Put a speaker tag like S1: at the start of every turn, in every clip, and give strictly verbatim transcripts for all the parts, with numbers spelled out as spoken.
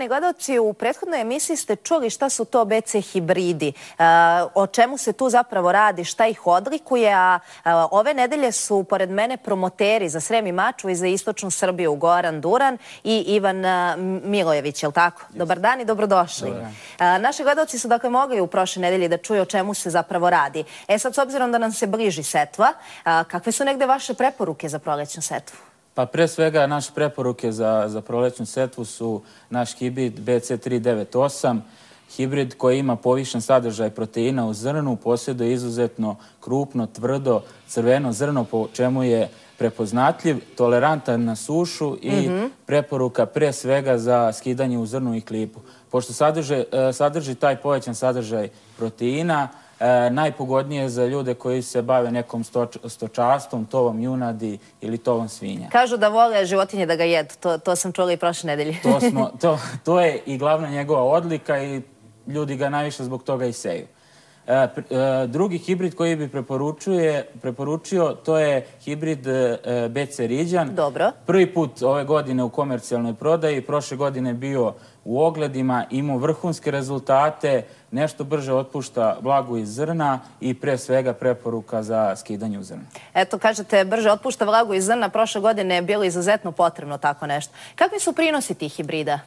S1: Poštovani gledalci, u prethodnoj emisiji ste čuli šta su to B C hibridi, o čemu se tu zapravo radi, šta ih odlikuje, a ove nedelje su pored mene promoteri za Srem i Mačvu i za istočnu Srbiju Goran Duran i Ivan Milojević, je li tako? Dobar dan i dobrodošli. Naši gledalci su dakle mogli u prošle nedelji da čuju o čemu se zapravo radi. E sad, s obzirom da nam se bliži setva, kakve su negde vaše preporuke za prolećnu setvu?
S2: Pa pre svega naše preporuke za, za prolećnu setvu su naš hibrid B C tri devet osam, hibrid koji ima povišen sadržaj proteina u zrnu, posjeduje izuzetno krupno, tvrdo, crveno zrno, po čemu je prepoznatljiv, tolerantan na sušu i mm-hmm. preporuka pre svega za skidanje u zrnu i klipu. Pošto sadrži, sadrži taj povećan sadržaj proteina, E, najpogodnije za ljude koji se bave nekom stoč, stočarstvom, tovom junadi ili tovom svinja.
S1: Kažu da vole životinje da ga jedu, to, to sam čula i prošle nedelje.
S2: to, smo, to, to je i glavna njegova odlika i ljudi ga najviše zbog toga i seju. E, e, drugi hibrid koji bi preporučio, to je hibrid e, B C Riđan.
S1: Dobro.
S2: Prvi put ove godine u komercijalnoj prodaji, prošle godine bio u ogledima, imao vrhunske rezultate, nešto brže otpušta vlagu iz zrna i pre svega preporuka za skidanje u zrna.
S1: Eto, kažete, brže otpušta vlagu iz zrna, prošle godine je bilo izuzetno potrebno tako nešto. Kakvi su prinosi tih hibrida?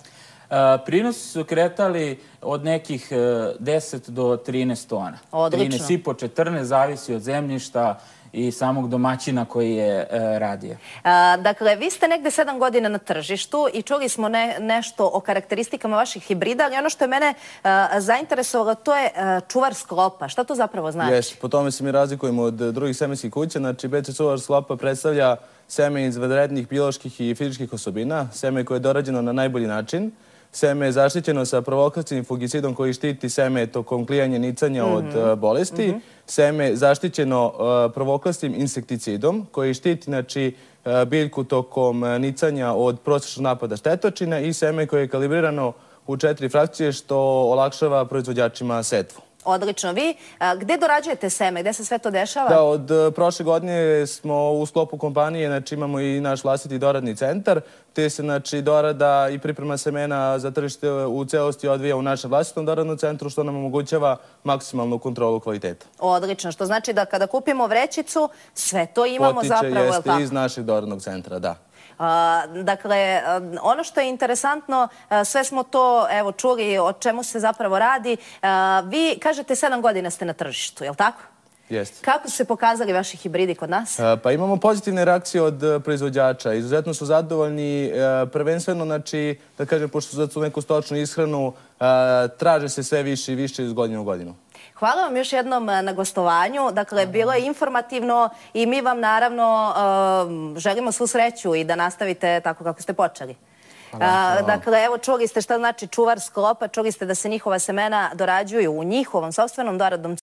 S2: Uh, prinosi su kretali od nekih uh, deset do trinaest tona.
S1: Odlično.
S2: trinaest i po četrnaest, zavisi od zemljišta i samog domaćina koji je uh, radio.
S1: A, dakle, vi ste negde sedam godina na tržištu i čuli smo ne, nešto o karakteristikama vaših hibrida, ali ono što je mene uh, zainteresovalo, to je uh, čuvar sklopa. Šta to zapravo znači?
S3: Jes, po tome se mi razlikujemo od drugih semenskih kuća. Znači, B C čuvar sklopa predstavlja seme iz vanrednih bioloških i fizičkih osobina, seme koje je dorađeno na najbolji način. Seme je zaštićeno sa provokacijnim fungicidom koji štiti seme tokom klijanja, nicanja od uh, bolesti. Mm-hmm. Seme je zaštićeno uh, provokacijnim insekticidom koji štiti znači, uh, biljku tokom uh, nicanja od prosječnog napada štetočina i seme koje je kalibrirano u četiri frakcije što olakšava proizvođačima setvu.
S1: Odlično. Vi, a, gde dorađujete seme? Gde se sve to dešava?
S3: Da, od uh, prošle godine smo u sklopu kompanije, znači imamo i naš vlastiti doradni centar, te se znači dorada i priprema semena za tržište u celosti odvija u našem vlastitom doradnom centru, što nam omogućava maksimalnu kontrolu kvaliteta.
S1: Odlično, što znači da kada kupimo vrećicu, sve to imamo
S3: Potiče,
S1: zapravo,
S3: jeste iz našeg doradnog centra, da.
S1: A, dakle, ono što je interesantno, sve smo to evo čuli o čemu se zapravo radi. A, vi kažete sedam godina ste na tržištu, je li tako?
S3: Jeste.
S1: Kako su se pokazali vaši hibridi kod nas?
S3: A, pa imamo pozitivne reakcije od proizvođača. Izuzetno su zadovoljni, a, prvenstveno, znači, da kažem, pošto su neku stočnu ishranu, a, traže se sve više i više iz godine u godinu.
S1: Hvala vam još jednom na gostovanju. Dakle, bilo je informativno i mi vam naravno uh, želimo svu sreću i da nastavite tako kako ste počeli. Hvala. Uh, dakle, evo čuli ste šta znači čuvar sklopa, čuli ste da se njihova semena dorađuju u njihovom sopstvenom doradnom